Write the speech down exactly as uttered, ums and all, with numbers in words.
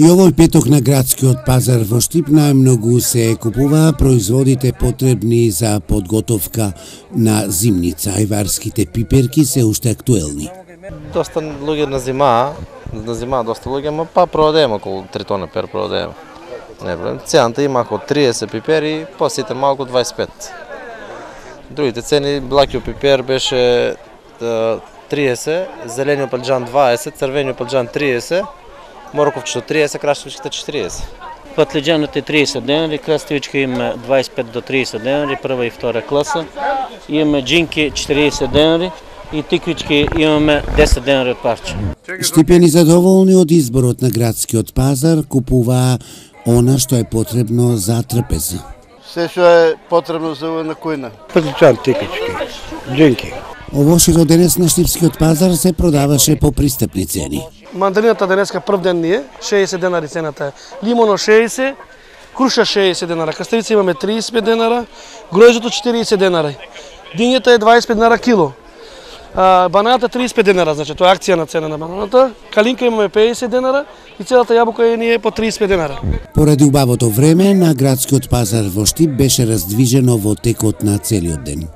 И овој петок на градскиот пазар во Штип најмногу се купуваа производите потребни за подготовка на зимница. Ајварските пиперки се уште актуелни. Доста луѓе на зима, на зима доста луѓе, ма па продадеме околу три тони пер продадеме. Не проблем. Цената имаха од триесет пипери, посите малку дваесет и пет. Другите цени, блакиот пипер беше триесет, зелениот палџан дваесет, црвениот палџан триесет, морковчето триесет, краставичките четириесет. Патлиџанот е триесет денари, краставичка има дваесет и пет до триесет денари, прва и втора класа. Имаме джинки четириесет денари и тиквички имаме десет денари од парче. Штипени задоволни од изборот на градскиот пазар купуваа она што е потребно за трпез. Се што е потребно за на кујна. Патлиџан, тиквички, джинки. Овошето денес на Штипскиот пазар се продаваше по пристапни цени. Мандарината денеска прв ден ни е, шеесет денари цената е. Лимоно шеесет, круша шеесет денара, краставица имаме триесет и пет денара, гројзето четириесет денара. Дињата е дваесет и пет денара кило. А, бананата триесет и пет денара, значи тоа е акција на цена на бананата. Калинка имаме педесет денара и целата јабука е ни е по триесет и пет денара. Поради убавото време на градскиот пазар во Штип беше раздвижено во текот на целиот ден.